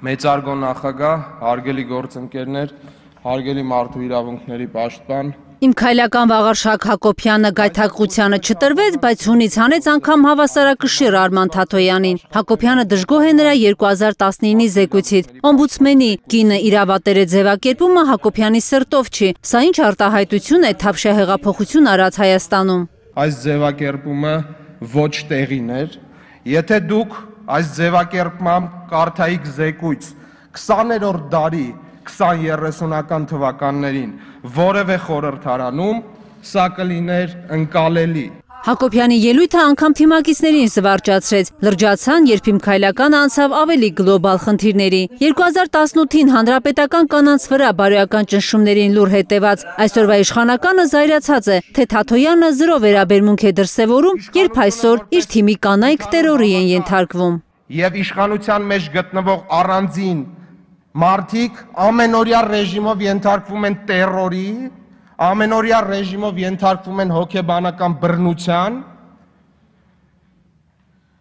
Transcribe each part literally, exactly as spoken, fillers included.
Մեծարգո նախագահ, հարգելի գործընկերներ, հարգելի մարդու իրավունքների պաշտպան։ Իմ քայլական Վաղարշակ Հակոբյանը գայթակղությանը չտրվեց, բայց հունից հանեց անգամ հավասարակշիռ Արման Թաթոյանին։ Հակոբյանը դժգոհ է նրա երկու հազար տասնինի զեկույցից։ Օմբուդսմենի կինը իրավատեր է ձևակերպումը Հակոբյանի սրտով չի։ Սա ինչ արտահայտություն է թավշյա հեղափոխություն արած Հայաստանում։ Այս ձևակերպումը ոչ տեղին էր, եթե դուք այս ձևակերպմամբ կարդայիք զեկույց քսաներորդ դարի քսան երեսունական թվականներին որևէ խորհրդարանում, սա կլիներ ընկալելի։ Հակոբյանի ելույթը անգամ թիմակիցներին զվարճացրեց, լրջացան, երբ իմ քայլականը անցավ ավելի գլոբալ խնդիրների։ երկու հազար տասնութին հանրապետական կանանց վրա բարոյական ճնշումներին լուր հետևած, այսօրվա իշխանականը զայրացած է, թե Թաթոյանը զրո վերաբերմունք է դրսևորում, երբ այսօր իր թիմի կանայք տերորի են ենթարկվում։ Եվ իշխանության մեջ գտնվող առանձին մարդիկ ամենօրյա ռեժիմով ենթարկվում են տերորի, ամենօրյա ռեժիմով ենթարկվում են հոգեբանական բռնության,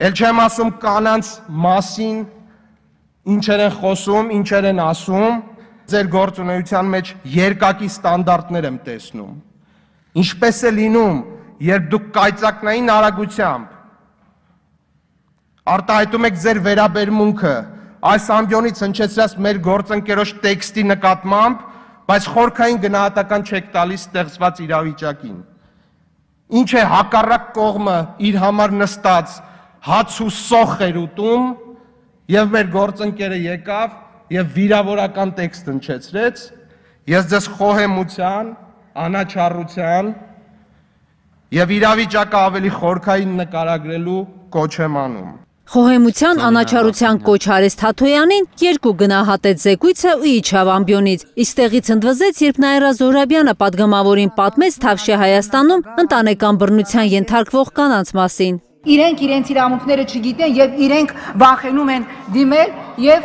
էլ չեմ ասում կանանց մասին, ինչեր են խոսում, ինչեր են ասում, ձեր գործունեության մեջ երկակի ստանդարտներ եմ տեսնում։ Ինչպես է լինում, երբ դուք կայծակնային արագությամբ արտահայտում եք ձեր վերաբերմունքը այս ամբիոնից հնչեցրած մեր գործընկերոջ տեքստի նկատմամբ, բայց խորքային գնահատական չեք տալիս ստեղծված իրավիճակին։ Ինչ է հակառակ կողմը իր համար նստած հաց ու սոխ էր ուտում, եւ մեր գործընկերը եկավ եւ վիրավորական տեքստ հնչեցրեց, ես ձեզ խոհեմության, անաչառության եւ իրավիճակը ավելի խորքային նկարագրելու կոչ եմ անում։ Խոհեմության անաչառության կոչ արեց Թաթոյանին, երկու գնահատեց զեկույցը ու իջավ ամբիոնից։ Իսկ տեղից ընդվզեց, երբ Նաիրա Զոհրաբյանը պատգամավորին պատմեց թավշյա Հայաստանում ընտանեկան բռնության ենթարկվող կանանց մասին։ Իրենք իրենց իրավունքները չգիտեն եւ իրենք վախենում են դիմել եւ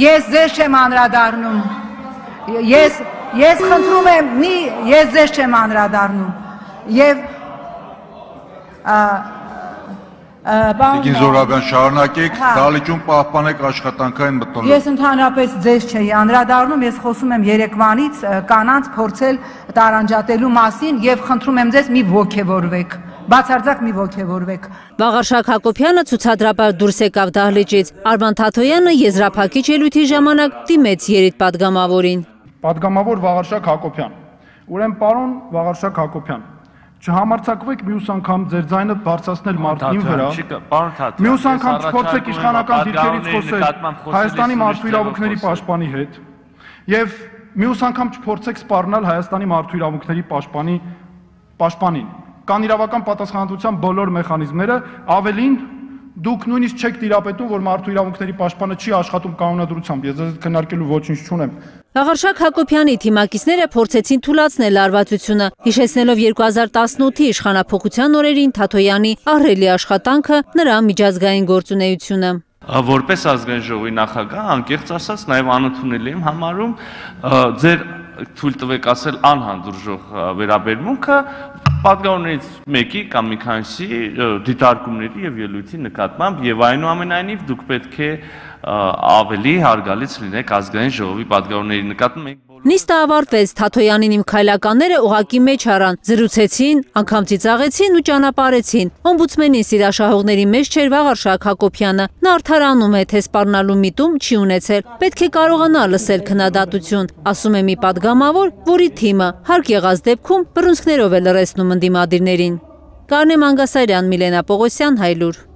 ես ձեզ չեմ անդրադառնում։ Ես ես խնդրում եմ, մի ես ձեզ չեմ անդրադառնում։ Եվ Տիկին Զոհրաբյան, շարունակեք, դալիճում պահպանեք աշխատանքային մթնոլորտը։ Ես ընդհանրապես ձեզ չէի անդրադառնում, ես խոսում եմ երեկվանից կանանց փորձել տարանջատելու մասին եւ խնդրում եմ ձեզ մի ոգևորվեք, բացարձակ մի ոգևորվեք։ Վաղարշակ Հակոբյանը ցուցադրաբար դուրս եկավ դահլիճից։ Արման Թաթոյանը եզրափակիչ ելույթի ժամանակ դիմեց երիտպատգամավորին։ Պատգամավոր Վաղարշակ Հակոբյան, ուրեմն պարոն Վաղարշակ Հակոբյան, չհամարձակվեք մյուս անգամ ձեր ձայնը բարձրացնել մարդու վրա։ Մյուս անգամ չփորձեք իշխանական դիրքերից խոսել Հայաստանի մարդու իրավունքների պաշտպանի հետ եւ մյուս անգամ չփորձեք սպառնալ Հայաստանի մարդու իրավունքների պաշտպանի պաշտպանին։ Կան իրավական պատասխանատվության բոլոր մեխանիզմները, ավելին դուք նույնիսկ չեք տիրապետում, որ մարդու իրավունքների պաշտպանը չի աշխատում կանոնադրությամբ։ Ես ձեզ քննարկելու ոչինչ չունեմ։ Վաղարշակ Հակոբյանի թիմակիցները փորձեցին թուլացնել լարվածությունը, հիշեցնելով երկու հազար տասնութի իշխանափոխության օրերին Թաթոյանի ահռելի աշխատանքը, նրա միջազգային գործունեությունը։ Որպես ազգային ժողովի նախագահ, անկեղծ ասած, նաև անընդունելի եմ համարում ձեր թույլ տվեք ասել անհանդուրժող վերաբերմունքը պատգամավորներից մեկի կամ մի քանիսի դիտարկումների եւ ելույթի նկատմամբ եւ այնուամենայնիվ դուք պետք է ավելի հարգալից լինեք ազգային ժողովի պատգամավորների նկատմամբ։ Նիստը ավարտվեց, Թաթոյանին իմ քայլականները ուղակի մեջ առան, զրուցեցին, անգամ ծիծաղեցին ու ճանապարհեցին։ Օմբուդսմենի սիրաշահողների մեջ չէր Վաղարշակ Հակոբյանը, նա արդարանում է, թե սպառնալու միտում չի ունեցել, պետք է կարողանա լսել քննադատություն, ասում է մի պատգամավոր, որի թիմը հարկ եղած դեպքում բռունցքներով է լռեցնում ընդդիմադիրներին։ Կարնե Մանգասարյան, Միլենա Պողոսյան, Հայլուր։